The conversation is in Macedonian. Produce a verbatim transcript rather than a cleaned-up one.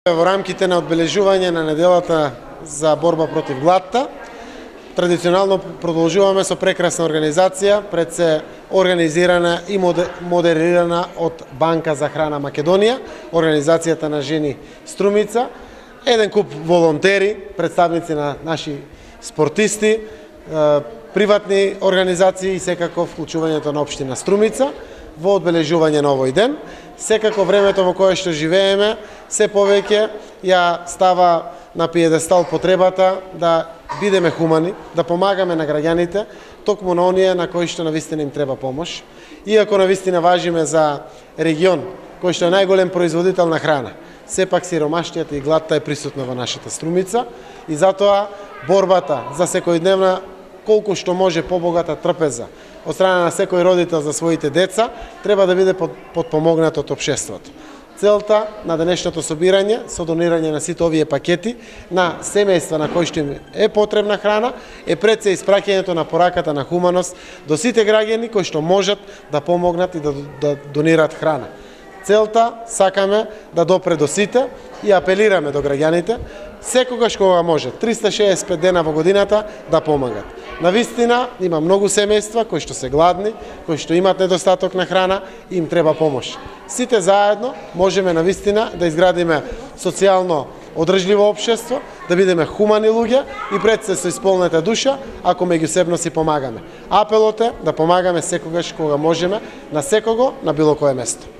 Во рамките на одбележување на неделата за борба против гладта, традиционално продолжуваме со прекрасна организација, пред се организирана и модерирана од Банка за храна Македонија, организацијата на жени Струмица, еден куп волонтери, представници на наши спортисти, приватни организации и секако вклучувањето на општина Струмица во одбележување на овој ден. Секако времето во кое што живееме се повеќе ја става на пиедестал потребата да бидеме хумани, да помагаме на граѓаните, токму на оние на кои што навистина им треба помош. Иако навистина важиме за регион кој што е најголем производител на храна, сепак сиромаштијата и гладта е присутна во нашата Струмица и затоа борбата за секојдневна колку што може побогата трпеза од страна на секој родител за своите деца треба да биде подпомогнат од општеството. Целта на денешното собирање со донирање на сите овие пакети на семејства на кои што им е потребна храна е пред се испраќањето на пораката на хуманост до сите граѓани кои што можат да помогнат и да, да донираат храна. Целта сакаме да допре до сите и апелираме до граѓаните секогаш кога може, триста шеесет и пет дена во годината да помагат. Навистина има многу семејства кои што се гладни, кои што имаат недостаток на храна и им треба помош. Сите заедно можеме навистина да изградиме социјално одржливо општество, да бидеме хумани луѓе и пред се со исполнета душа, ако меѓусебно си помагаме. Апелот е да помагаме секогаш кога можеме, на секого, на било кое место.